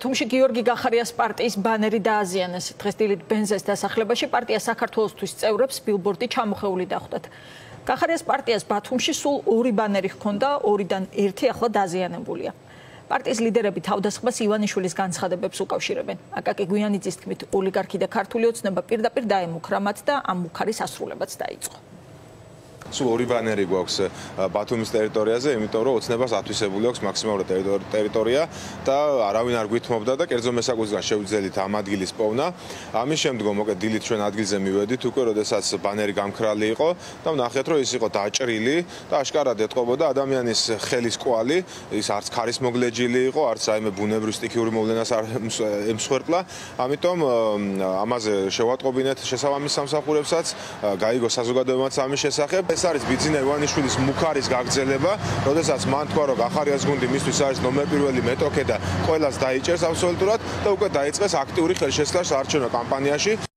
ბათუმში გიორგი გახარიას პარტიის ბანერი დააზიანეს. დღეს დილით ბენზეს დასახლებაში პარტია საქართველოსთვის წევრებს ბილბორდი ჩამოხეული დახვდათ. გახარიას პარტიას ბათუმში სულ 2 ბანერი ჰქონდა, 2-დან 1 ახლა დაზიანებულია. პარტიის ლიდერები თავდასხმას ივანიშვილის განცხადებებს უკავშირებენ. აკაკი გვიანიძის თქმით, ოლიგარქი და ქართული ოცნება პირდაპირ დაემუქრა მათ და ამ მუქარის ასრულებაც დაიწყო. სულ 2 ბანერი გვაქვს ბათუმის ტერიტორიაზე, იმიტომ რომ ოცნებას ათვისებული აქვს მაქსიმალური ტერიტორია და არავინ არ გვითმობდა და კერძო მესაკუთრებიდან შევძელით ამ ადგილის პოვნა. ამის შემდგომ მოკეთ დილით ჩვენ ადგილზე მივედით უკვე, როდესაც ბანერი გამქრალი იყო და ვნახეთ, რომ ის იყო დაჭრილი და აშკარად ეტყობოდა ადამიანის ხელის კვალი, ის არც ქარისმოგლეჯილი იყო, არც რაიმე ბუნებრივ სტიქიური მოვლენას არ ემსხვერპლა. ამიტომ ამაზე შევატყობინეთ შესაბამის სამსახურებსაც, გაიგო საზოგადოებაც ამის შესახებ. ეს არის ბიძინა ივანიშვილის მუქარის გაგრძელება, როდესაც მან თქვა, რომ გახარიას გუნდი მისთვის არის ნომერ პირველი მეტოქე და ყველას დაიჭერს აბსოლუტურად და უკვე დაიწყეს აქტიური ხელშესხმა საარჩევნო კამპანიაში.